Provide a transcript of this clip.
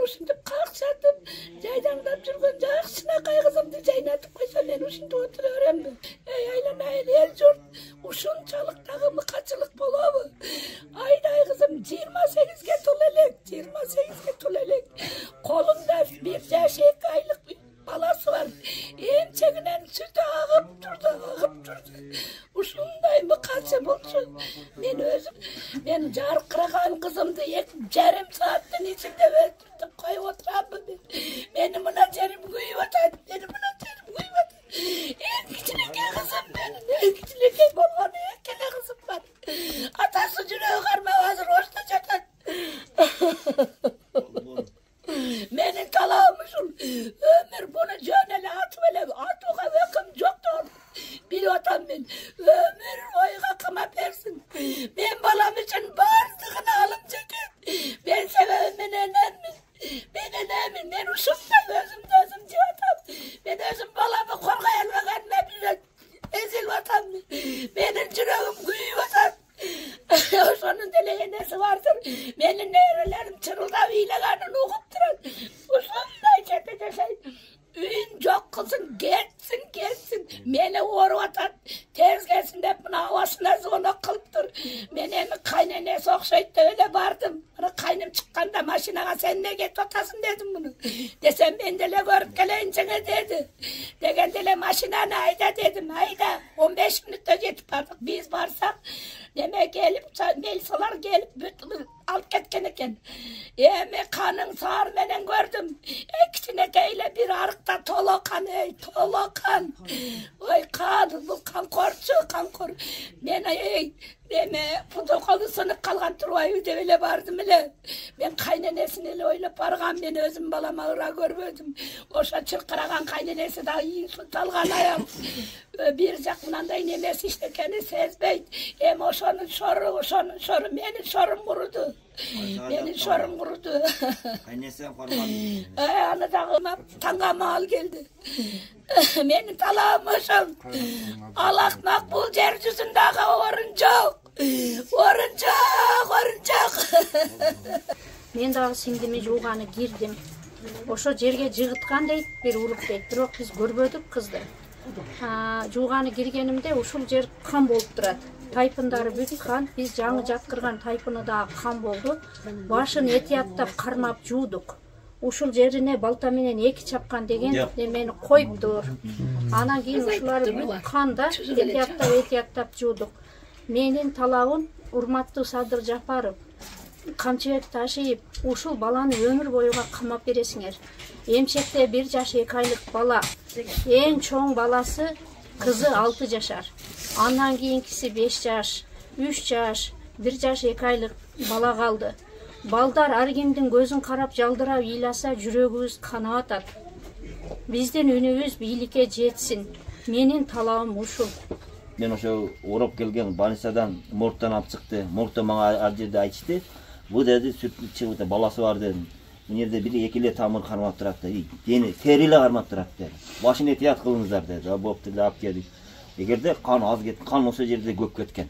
ушинтип какшатып жайдаңдап жүргөн жакшынакай кызымды жайнатып койсо мен ушинтип отура беремби? Эй айланайын эл журт, ушунчалык дагы мыкачылык болобу? Айдай кызым 28ге тол элек, 28ге тол элек. Колунда 1 жаш 2 айлык баласы бар. Эмчегинен сүтү агып турду. Ушундай мыкачы болчу. Мен жаркыраган кызымды 2,5 сааттын ичинде өлтүрүп коюп отурамбы? Мени мына жерим күйүп атат. Эң кичинекей кызым менин, эң кичинекей болгон экеле кызым бар. Атасы жүрөгү кармап азыр ошто жатат. Менин талабым ушул. Өмүр буну жөн эле атып эле атууга өкүм жок да билип атам мен. Өмүр ойга камап берсин. Мен балам үчүн бардыгын алып жетем. Men sebebim men enemmin. Men uşumda özümde özüm diyotam. Ben özüm balamı korkayanmaganına bile ezil vatam. Benim yüreğim kuyup vatam. Oşonun delegenesi vardır. Benim nevrelerim çırıldap iyileganını okup duran. Uşunday çete yaşayın. Üyün çok kızın gelsin. Meni orup atan. Ters gelsin de buna havasına zona kılıptır. Men emi kaynanesi okşayıp da öyle bardım. Kaynım çıkkanda maşinaga sen ne get otasın dedim bunu. Desem ben dele görüp geleyince dedi. Degen dele maşinanı ayda dedim. Ayda 15 minutta jetip bardık. Biz barsak demek gelip Melisalar gelip alıp ketken eken. Emi kanın sağır menen gördüm. Kiçinekeyle bir arıkta tolokan tolokan. Oy kan, bu kan kor. Men Deme protokolu sınıp kalgan turbayı de öyle bardım ele. Ben kaynanesini ele oylap bargam, ben özüm balama ıra görmedim. Oşa çırkıragan kaynanesi da iyi tutalgan ayam. Bir jakınanday nemesi işte kendi sezbeyt. Hem oşonun soru, menin sorum kurudu. Menin sorum kurudu. Kaynanesi korkmadı. Anadağıma tangama al geldi. Menin talağım oşum. Allah makbul yeryüzündeki oruncak. Men dagы сиңдими жууганы кирдим. Ошо жерге жыгыткан дейт, бир уруп дейт. Бирок биз көрбөдүк кызды. Жууганы киргенимде ушул жер кан болуп турат. Тайпындары бүт кан, биз жаңы жаткырган тайпыны дагы кан болду. Башын этияттап кармап жуудук. Ушул жерине балта менен 2 чапкан деген немени коюптур. Анан кийин ушуларды бүт канда этияттап жуудук. Менин талабым, урматтуу Садыр Жапаров, камчыбек Ташиев, ушул баланы өмүр боюга камап бересиңер. Эмчекте 1 жаш 2 айлык бала, эң чоң баласы кызы 6 жашар. Андан кийинкиси 5 жаш, 3 жаш, 1 жаш 2 айлык бала калды. Балдар ар кимдин көзүн карап жалдырап ыйласа жүрөгүбүз канап атат. Биздин үнүбүз бийликке жетсин. Менин талабым ушул. Men ошо уруп келген больницадан моргтан алып чыкты. Моргто мага ар жерде айтышты. Бу деди сүт чыгып баласы бар дедим. Бул жерде 1-2 эле тамыр кармап турат деди. Дени тери эле кармап турат деди. Башын этият кылыңыздар деди. Болупту деп алып келдик. Эгерде кан аз кеткен, кан ошо жерде көп кеткен.